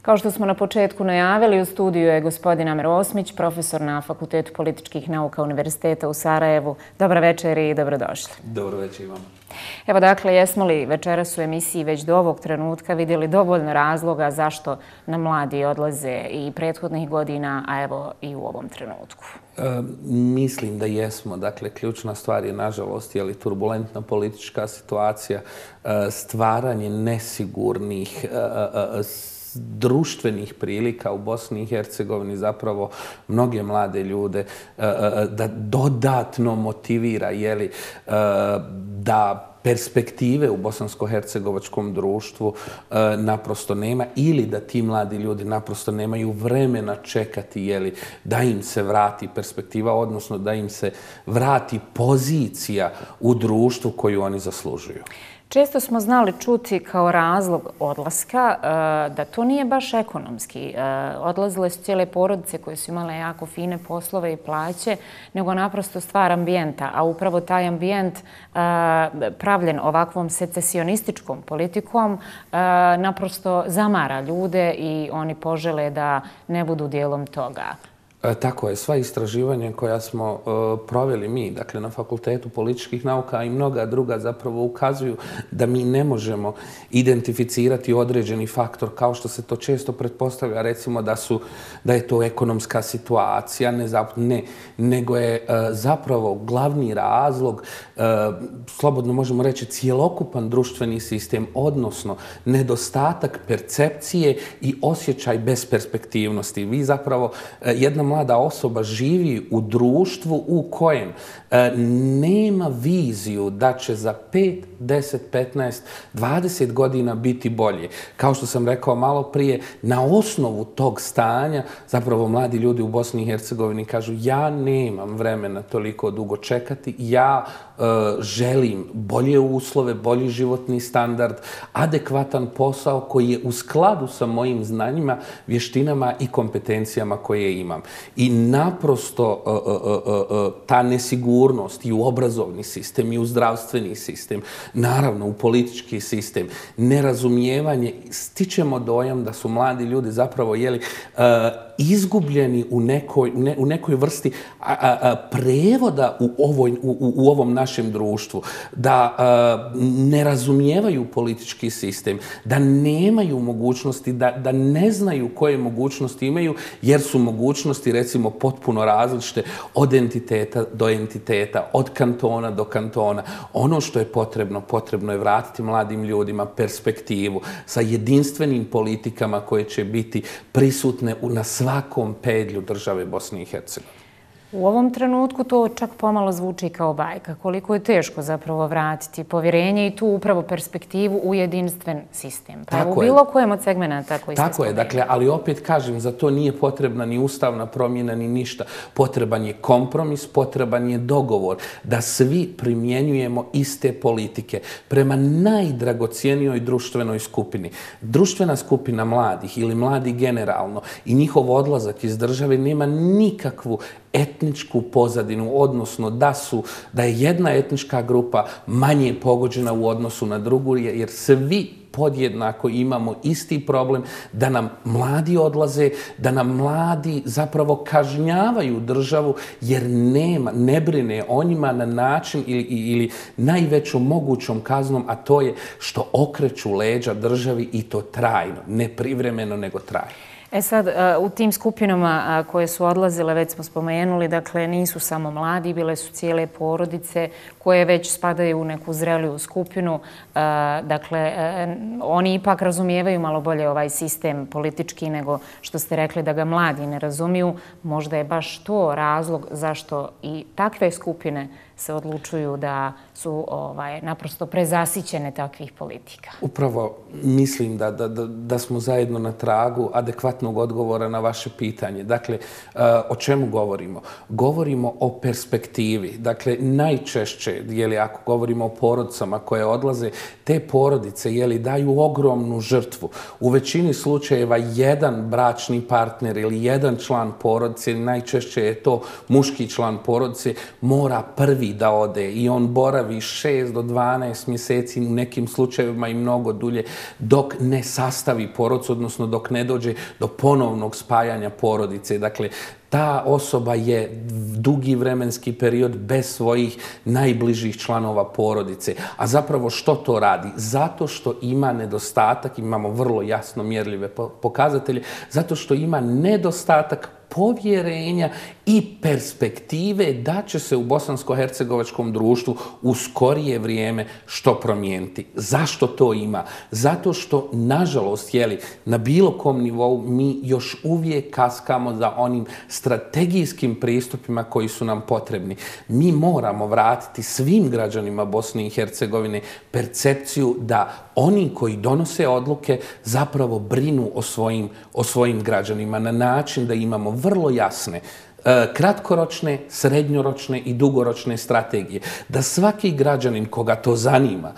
Kao što smo na početku najavili, u studiju je gospodin Amer Osmić, profesor na Fakultetu političkih nauka Univerziteta u Sarajevu. Dobar večer i dobrodošli. Dobro večer i vam. Evo dakle, jesmo li večeras u emisiji već do ovog trenutka vidjeli dovoljno razloga zašto nam mladi odlaze i prethodnih godina, a evo i u ovom trenutku? Mislim da jesmo. Dakle, ključna stvar je, nažalost, turbulentna politička situacija, stvaranje nesigurnih društvenih prilika u Bosni i Hercegovini, zapravo mnoge mlade ljude da dodatno motivira da perspektive u bosansko-hercegovačkom društvu naprosto nema, ili da ti mladi ljudi naprosto nemaju vremena čekati da im se vrati perspektiva, odnosno da im se vrati pozicija u društvu koju oni zaslužuju. Često smo znali čuti kao razlog odlaska da to nije baš ekonomski. Odlazile su cijele porodice koje su imale jako fine poslove i plaće, nego naprosto stvar ambijenta. A upravo taj ambijent pravljen ovakvom secesionističkom politikom naprosto zamara ljude i oni požele da ne budu dijelom toga. Tako je, sva istraživanja koja smo proveli mi, dakle na Fakultetu političkih nauka i mnoga druga, zapravo ukazuju da mi ne možemo identificirati određeni faktor kao što se to često pretpostavlja, recimo da je to ekonomska situacija, ne, nego je zapravo glavni razlog, slobodno možemo reći, cjelokupan društveni sistem, odnosno nedostatak percepcije i osjećaj besperspektivnosti. Vi zapravo, jedna mlada osoba živi u društvu u kojem nema viziju da će za 5, 10, 15, 20 godina biti bolje. Kao što sam rekao malo prije, na osnovu tog stanja zapravo mladi ljudi u Bosni i Hercegovini kažu: ja nemam vremena toliko dugo čekati, ja želim bolje uslove, bolji životni standard, adekvatan posao koji je u skladu sa mojim znanjima, vještinama i kompetencijama koje imam. I naprosto ta nesigurnost i u obrazovni sistem i u zdravstveni sistem, naravno u politički sistem, nerazumijevanje, stičemo dojam da su mladi ljudi zapravo izgubljeni u nekoj vrsti prevoda u ovom našem društvu, da ne razumijevaju politički sistem, da nemaju mogućnosti, da ne znaju koje mogućnosti imaju, jer su mogućnosti recimo potpuno različite od entiteta do entiteta, od kantona do kantona. Ono što je potrebno je vratiti mladim ljudima perspektivu sa jedinstvenim politikama koje će biti prisutne na svakom pedlju države Bosne i Hercegovine. U ovom trenutku to čak pomalo zvuči kao bajka. Koliko je teško zapravo vratiti povjerenje i tu upravo perspektivu u jedinstven sistem. Pa u bilo kojem od segmenta koji ste spomenuli. Tako je, dakle, ali opet kažem, za to nije potrebna ni ustavna promjena ni ništa. Potreban je kompromis, potreban je dogovor da svi primjenjujemo iste politike prema najdragocijenijoj društvenoj skupini. Društvena skupina mladih ili mladi generalno i njihov odlazak iz države nema nikakvu etničku pozadinu, odnosno da je jedna etnička grupa manje pogođena u odnosu na drugu, jer svi podjednako imamo isti problem da nam mladi odlaze, da nam mladi zapravo kažnjavaju državu jer ne brine o njima na način ili najvećom mogućom kaznom, a to je što okreću leđa državi, i to trajno, ne privremeno nego trajno. E sad, u tim skupinama koje su odlazile, već smo spomenuli, dakle, nisu samo mladi, bile su cijele porodice koje već spadaju u neku zreliju skupinu. Dakle, oni ipak razumijevaju malo bolje ovaj sistem politički nego što ste rekli da ga mladi ne razumiju. Možda je baš to razlog zašto i takve skupine se odlučuju da su naprosto prezasićene takvih politika. Upravo mislim da smo zajedno na tragu adekvatnog odgovora na vaše pitanje. Dakle, o čemu govorimo? Govorimo o perspektivi. Dakle, najčešće, ako govorimo o porodicama koje odlaze, te porodice daju ogromnu žrtvu. U većini slučajeva jedan bračni partner ili jedan član porodice, najčešće je to muški član porodice, mora prvi prvi da ode i on boravi 6 do 12 mjeseci, u nekim slučajevima i mnogo dulje, dok ne sastavi porodicu, odnosno dok ne dođe do ponovnog spajanja porodice. Dakle, ta osoba je dugi vremenski period bez svojih najbližih članova porodice. A zapravo što to radi? Zato što ima nedostatak, imamo vrlo jasno mjerljive pokazatelje, zato što ima nedostatak povjerenja i perspektive da će se u bosansko-hercegovačkom društvu u skorije vrijeme što promijeniti. Zašto to ima? Zato što, nažalost, na bilo kom nivou mi još uvijek kaskamo za onim strategijskim pristupima koji su nam potrebni. Mi moramo vratiti svim građanima Bosne i Hercegovine percepciju da oni koji donose odluke zapravo brinu o svojim građanima na način da imamo vrlo jasne kratkoročne, srednjoročne i dugoročne strategije. Da svaki građanin koga to zanima,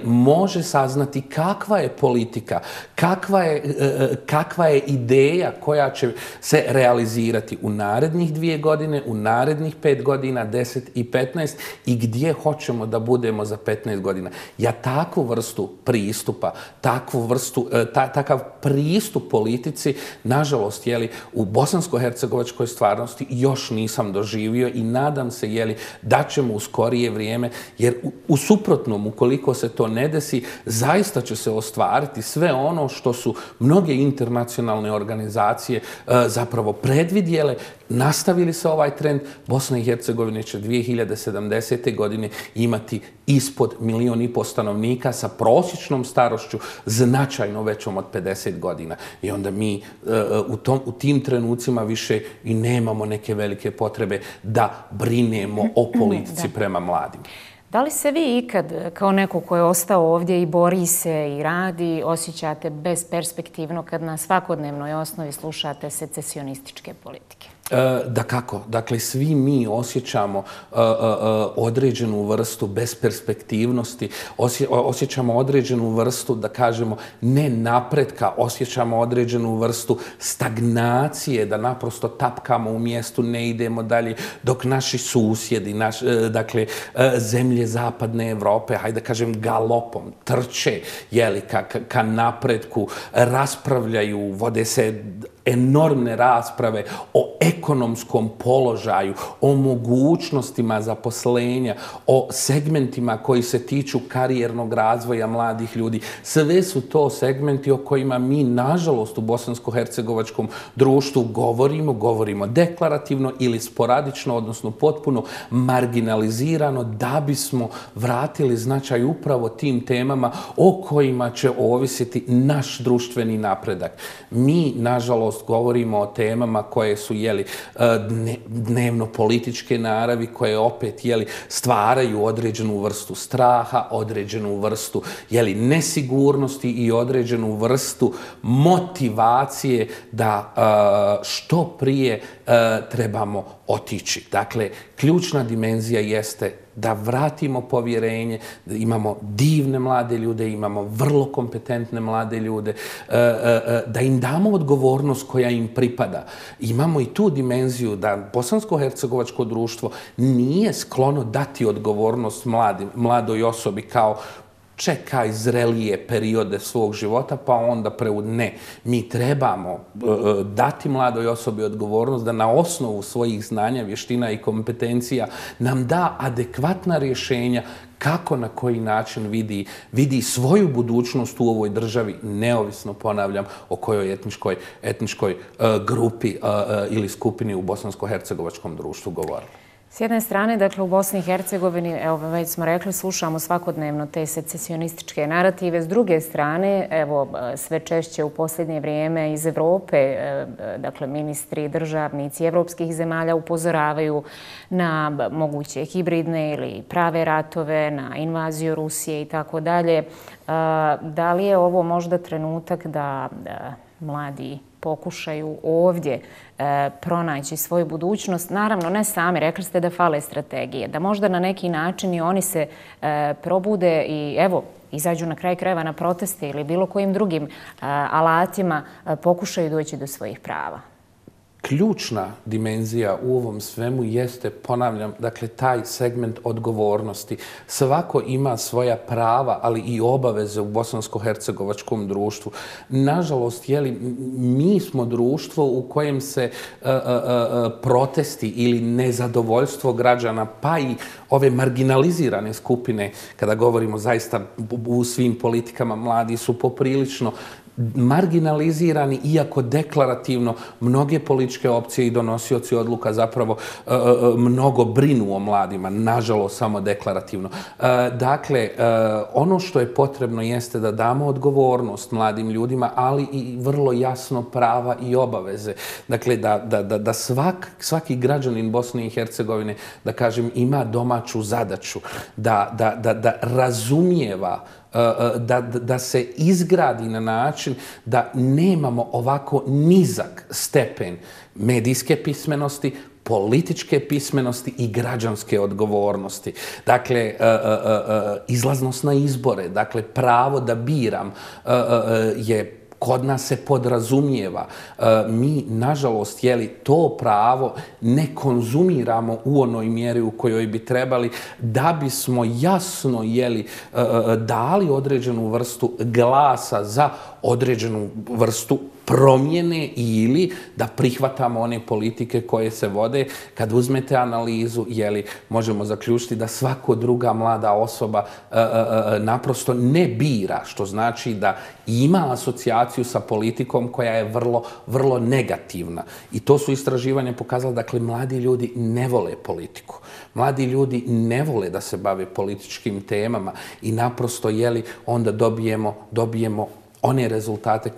može saznati kakva je politika, kakva je ideja koja će se realizirati u narednih 2 godine, u narednih 5 godina, 10 i 15 i gdje hoćemo da budemo za 15 godina. Ja takvu vrstu pristupa, takav pristup politici, nažalost, u bosansko-hercegovačkoj stvarnosti još nisam doživio i nadam se da ćemo u skorije vrijeme, jer u suprotnom, ukoliko se to ne desi, zaista će se ostvariti sve ono što su mnoge internacionalne organizacije zapravo predvidjele. Nastavili se ovaj trend, Bosna i Hercegovina će 2070. godine imati ispod 1,5 milijuna stanovnika sa prosječnom starošću značajno većom od 50 godina. I onda mi u tim trenucima više i nemamo neke velike potrebe da brinemo o politici prema mladima. Da li se vi ikad, kao neko ko je ostao ovdje i bori se i radi, osjećate besperspektivno kad na svakodnevnoj osnovi slušate secesionističke politike? Dakako. Dakle, svi mi osjećamo određenu vrstu besperspektivnosti, osjećamo određenu vrstu, da kažemo, ne napretka, osjećamo određenu vrstu stagnacije, da naprosto tapkamo u mjestu, ne idemo dalje, dok naši susjedi, dakle, zemlje zapadne Evrope, hajde da kažem, galopom trče ka napretku, raspravljaju, vode se enormne rasprave o ekonomskom položaju, o mogućnostima zaposlenja, o segmentima koji se tiču karijernog razvoja mladih ljudi. Sve su to segmenti o kojima mi, nažalost, u bosansko-hercegovačkom društvu govorimo deklarativno ili sporadično, odnosno potpuno marginalizirano, da bismo vratili značaj upravo tim temama o kojima će ovisiti naš društveni napredak. Mi, nažalost, govorimo o temama koje su dnevno političke naravi, koje opet stvaraju određenu vrstu straha, određenu vrstu nesigurnosti i određenu vrstu motivacije da što prije trebamo otići. Dakle, ključna dimenzija jeste da vratimo povjerenje, da imamo divne mlade ljude, imamo vrlo kompetentne mlade ljude, da im damo odgovornost koja im pripada. Imamo i tu dimenziju da bosansko-hercegovačko društvo nije sklono dati odgovornost mladoj osobi kao čekaj zrelije periode svog života, pa onda ne. Mi trebamo dati mladoj osobi odgovornost da na osnovu svojih znanja, vještina i kompetencija nam da adekvatna rješenja kako, na koji način vidi svoju budućnost u ovoj državi, neovisno, ponavljam, o kojoj etničkoj grupi ili skupini u bosansko-hercegovačkom društvu govorimo. S jedne strane, dakle, u Bosni i Hercegovini, evo, već smo rekli, slušamo svakodnevno te secesionističke narative. S druge strane, evo, sve češće u posljednje vrijeme iz Evrope, dakle, ministri, državnici evropskih zemalja upozoravaju na moguće hibridne ili prave ratove, na invaziju Rusije i tako dalje. Da li je ovo možda trenutak da mladi pokušaju ovdje pronaći svoju budućnost? Naravno, ne sami, rekli ste da fale strategije, da možda na neki način i oni se probude i evo, izađu na kraj krajeva na proteste ili bilo kojim drugim alatima pokušaju doći do svojih prava. ključna dimenzija u ovom svemu jeste, ponavljam, dakle, taj segment odgovornosti. Svako ima svoja prava, ali i obaveze u bosansko-hercegovačkom društvu. Nažalost, mi smo društvo u kojem se protesti ili nezadovoljstvo građana, pa i ove marginalizirane skupine, kada govorimo zaista u svim politikama, mladi su poprilično marginalizirani, iako deklarativno mnoge političke opcije i donosioci odluka zapravo mnogo brinu o mladima, nažalost samo deklarativno. Dakle, ono što je potrebno jeste da damo odgovornost mladim ljudima, ali i vrlo jasno prava i obaveze. Dakle, da svaki građanin Bosne i Hercegovine, da kažem, ima domaću zadaću, da razumijeva, da se izgradi na način da nemamo ovako nizak stepen medijske pismenosti, političke pismenosti i građanske odgovornosti. Dakle, izlaznost na izbore, dakle, pravo da biram je kod nas se podrazumijeva. Mi, nažalost, to pravo ne konzumiramo u onoj mjeri u kojoj bi trebali, da bismo jasno dali određenu vrstu glasa za određenu vrstu promjene ili da prihvatamo one politike koje se vode. Kad uzmete analizu, možemo zaključiti da svako druga mlada osoba naprosto ne bira, što znači da ima asocijaciju sa politikom koja je vrlo, vrlo negativna. I to su istraživanja pokazala, dakle, mladi ljudi ne vole politiku. Mladi ljudi ne vole da se bave političkim temama i naprosto, onda dobijemo one rezultate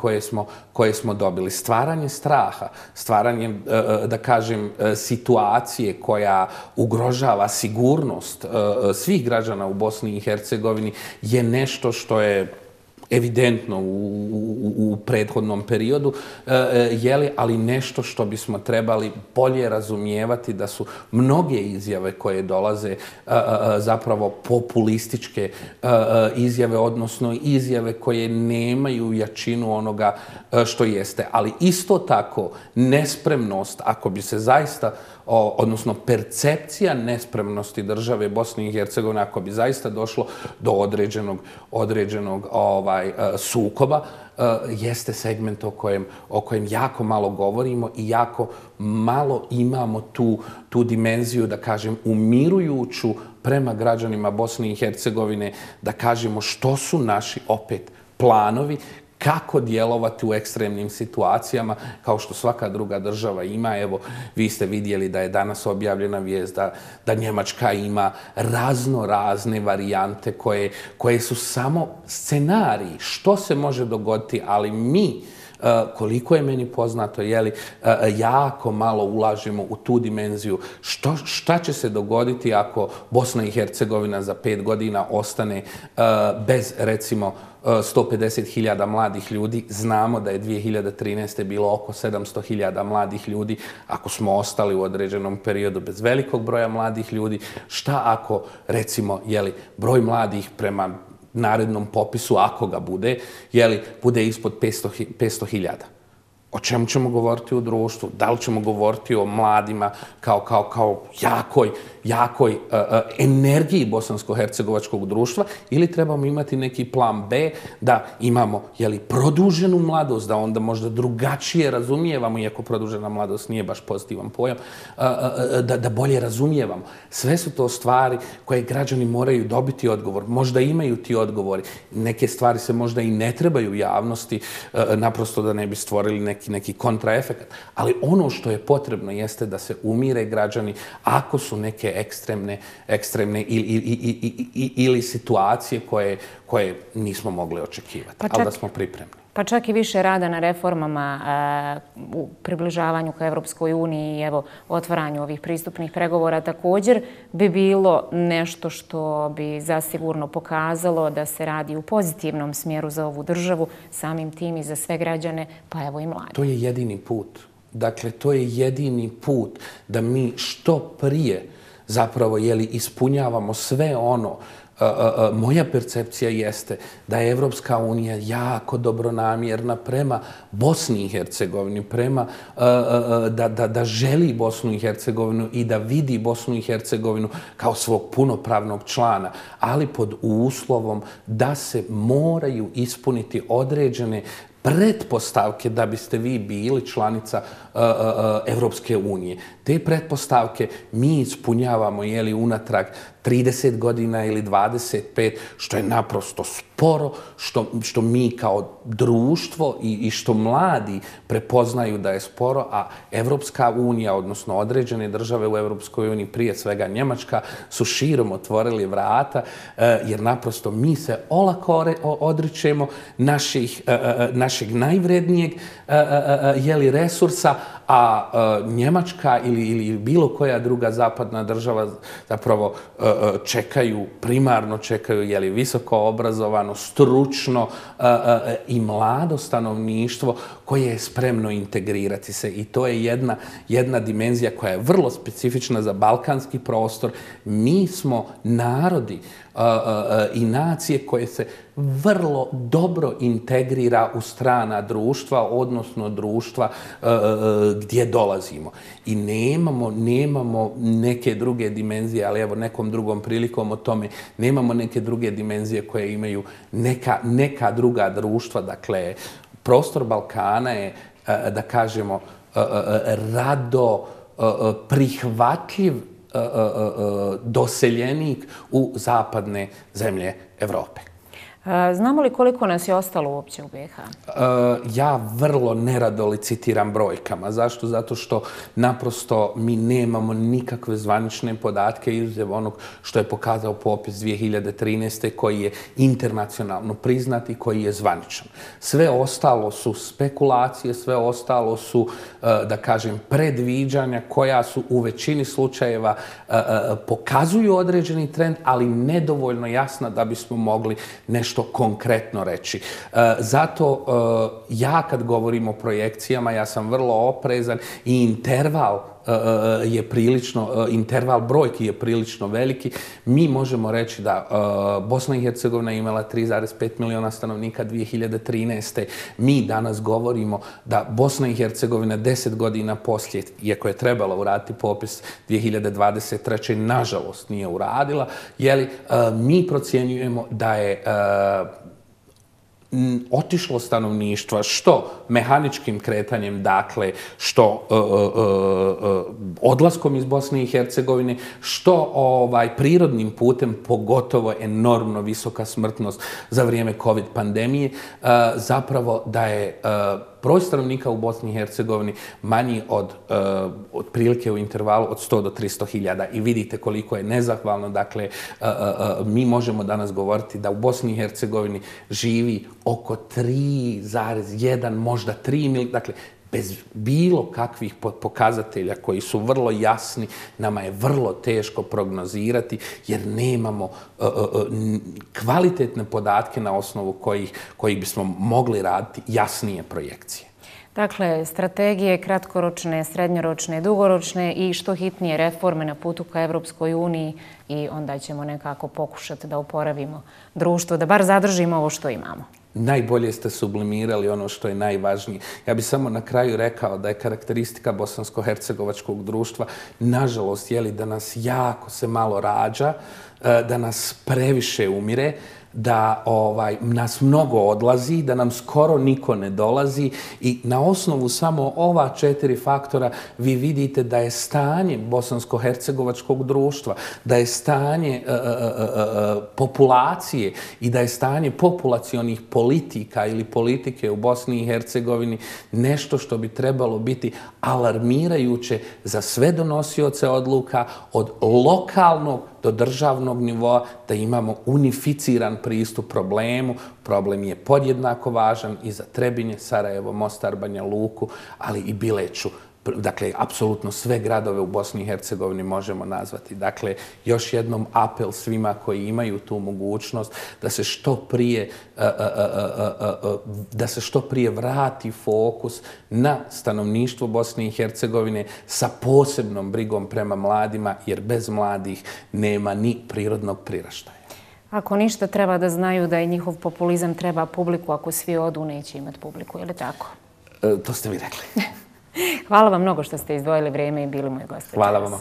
koje smo dobili. Stvaranje straha, stvaranje, da kažem, situacije koja ugrožava sigurnost svih građana u Bosni i Hercegovini je nešto što je evidentno u prethodnom periodu, ali nešto što bismo trebali bolje razumijevati, da su mnoge izjave koje dolaze zapravo populističke izjave, odnosno izjave koje nemaju jačinu onoga što jeste. Ali isto tako nespremnost, ako bi se zaista, odnosno percepcija nespremnosti države Bosne i Hercegovine, ako bi zaista došlo do određenog sukoba, jeste segment o kojem jako malo govorimo i jako malo imamo tu dimenziju, da kažem, umirujuću prema građanima Bosne i Hercegovine, da kažemo što su naši opet planovi, kako djelovati u ekstremnim situacijama, kao što svaka druga država ima. Evo, vi ste vidjeli da je danas objavljena vijest da Njemačka ima razne varijante koje su samo scenariji što se može dogoditi, ali mi, koliko je meni poznato, jako malo ulažemo u tu dimenziju. Šta će se dogoditi ako Bosna i Hercegovina za 5 godina ostane bez, recimo, 150.000 mladih ljudi? Znamo da je 2013. bilo oko 700.000 mladih ljudi. Ako smo ostali u određenom periodu bez velikog broja mladih ljudi, šta ako, recimo, broj mladih prema narednom popisu, ako ga bude, bude ispod 500.000? O čemu ćemo govoriti u društvu? Da li ćemo govoriti o mladima kao jakoj energiji bosansko-hercegovačkog društva, ili trebamo imati neki plan B, da imamo produženu mladost, da onda možda drugačije razumijevamo, iako produžena mladost nije baš pozitivan pojam, da bolje razumijevamo. Sve su to stvari koje građani moraju dobiti odgovor. Možda imaju ti odgovori. Neke stvari se možda i ne trebaju javnosti, naprosto da ne bi stvorili neki kontraefekat. Ali ono što je potrebno jeste da se umire građani ako su neke ekstremne ili situacije koje nismo mogli očekivati, ali da smo pripremni. Pa čak i više rada na reformama u približavanju ka Evropskoj uniji i evo otvaranju ovih pristupnih pregovora također bi bilo nešto što bi zasigurno pokazalo da se radi u pozitivnom smjeru za ovu državu, samim tim i za sve građane, pa evo i mladi. To je jedini put. Dakle, to je jedini put da mi što prije zapravo ispunjavamo sve ono moja percepcija jeste da je Evropska unija jako dobronamjerna prema Bosni i Hercegovini, da želi Bosnu i Hercegovinu i da vidi Bosnu i Hercegovinu kao svog punopravnog člana, ali pod uslovom da se moraju ispuniti određene pretpostavke da biste vi bili članica Evropske unije. Te pretpostavke mi ispunjavamo unatrag 30 godina ili 25, što je naprosto sporo, što mi kao društvo i što mladi prepoznaju da je sporo, a Evropska unija, odnosno određene države u Evropskoj uniji, prije svega Njemačka, su širom otvorili vrata, jer naprosto mi se olako odričemo našeg najvrednijeg resursa, a Njemačka ili bilo koja druga zapadna država zapravo primarno čekaju visoko obrazovano, stručno i mlado stanovništvo koje je spremno integrirati se. I to je jedna dimenzija koja je vrlo specifična za balkanski prostor. Mi smo narodi i nacije koje se vrlo dobro integrira u strana društva, odnosno društva gdje dolazimo. I nemamo neke druge dimenzije, ali evo nekom drugom prilikom o tome, nemamo neke druge dimenzije koje imaju neka druga društva. Dakle, prostor Balkana je, da kažemo, rado prihvatljiv doseljenik u zapadne zemlje Evrope. Znamo li koliko nas je ostalo uopće u BiH? Ja vrlo nerado licitiram brojkama. Zašto? Zato što naprosto mi nemamo nikakve zvanične podatke izuzev onog što je pokazao popis 2013. koji je internacionalno priznat i koji je zvaničan. Sve ostalo su spekulacije, sve ostalo su, da kažem, predviđanja koja su u većini slučajeva pokazuju određeni trend, ali nedovoljno jasna da bismo mogli nešto konkretno reći. Zato ja kad govorim o projekcijama, ja sam vrlo oprezan i interval brojki je prilično veliki. Mi možemo reći da Bosna i Hercegovina je imala 3,5 miliona stanovnika 2013. Mi danas govorimo da Bosna i Hercegovina 10 godina poslije, iako je trebala uraditi popis 2023. nažalost nije uradila, mi procjenjujemo da je otišlo stanovništva što mehaničkim kretanjem, dakle, što odlaskom iz Bosne i Hercegovine, što prirodnim putem, pogotovo enormno visoka smrtnost za vrijeme COVID pandemije, zapravo da je broj stanovnika u Bosni i Hercegovini manji od otprilike u intervalu od 100 do 300 hiljada. I vidite koliko je nezahvalno. Dakle, mi možemo danas govoriti da u Bosni i Hercegovini živi oko 3,1, možda 3 milijuna. Dakle, bez bilo kakvih pokazatelja koji su vrlo jasni, nama je vrlo teško prognozirati jer nemamo kvalitetne podatke na osnovu kojih bismo mogli raditi jasnije projekcije. Dakle, strategije kratkoročne, srednjoročne, dugoročne i što hitnije reforme na putu ka Evropskoj uniji i onda ćemo nekako pokušati da oporavimo društvo, da bar zadržimo ovo što imamo. Najbolje ste sublimirali ono što je najvažnije. Ja bih samo na kraju rekao da je karakteristika bosansko-hercegovačkog društva, nažalost, da nas jako se malo rađa, da nas previše umire, da nas mnogo odlazi, da nam skoro niko ne dolazi i na osnovu samo ova 4 faktora vi vidite da je stanje bosansko-hercegovačkog društva, da je stanje populacije i da je stanje populacionih politika ili politike u Bosni i Hercegovini nešto što bi trebalo biti alarmirajuće za sve donosioce odluka od lokalnog do državnog nivoa, da imamo unificiran pristup problemu. Problem je podjednako važan i za Trebinje, Sarajevo, Mostar, Banja Luku, ali i Bileću. Dakle, apsolutno sve gradove u Bosni i Hercegovini možemo nazvati. Dakle, još jednom apel svima koji imaju tu mogućnost da se što prije vrati fokus na stanovništvo Bosne i Hercegovine sa posebnom brigom prema mladima, jer bez mladih nema ni prirodnog priraštaja. Ako ništa, treba da znaju da i njihov populizam treba publiku. Ako svi odu, neće imati publiku. Je li tako? To ste mi rekli. Hvala vam mnogo što ste izdvojili vrijeme i bili moji gosti. Hvala vam.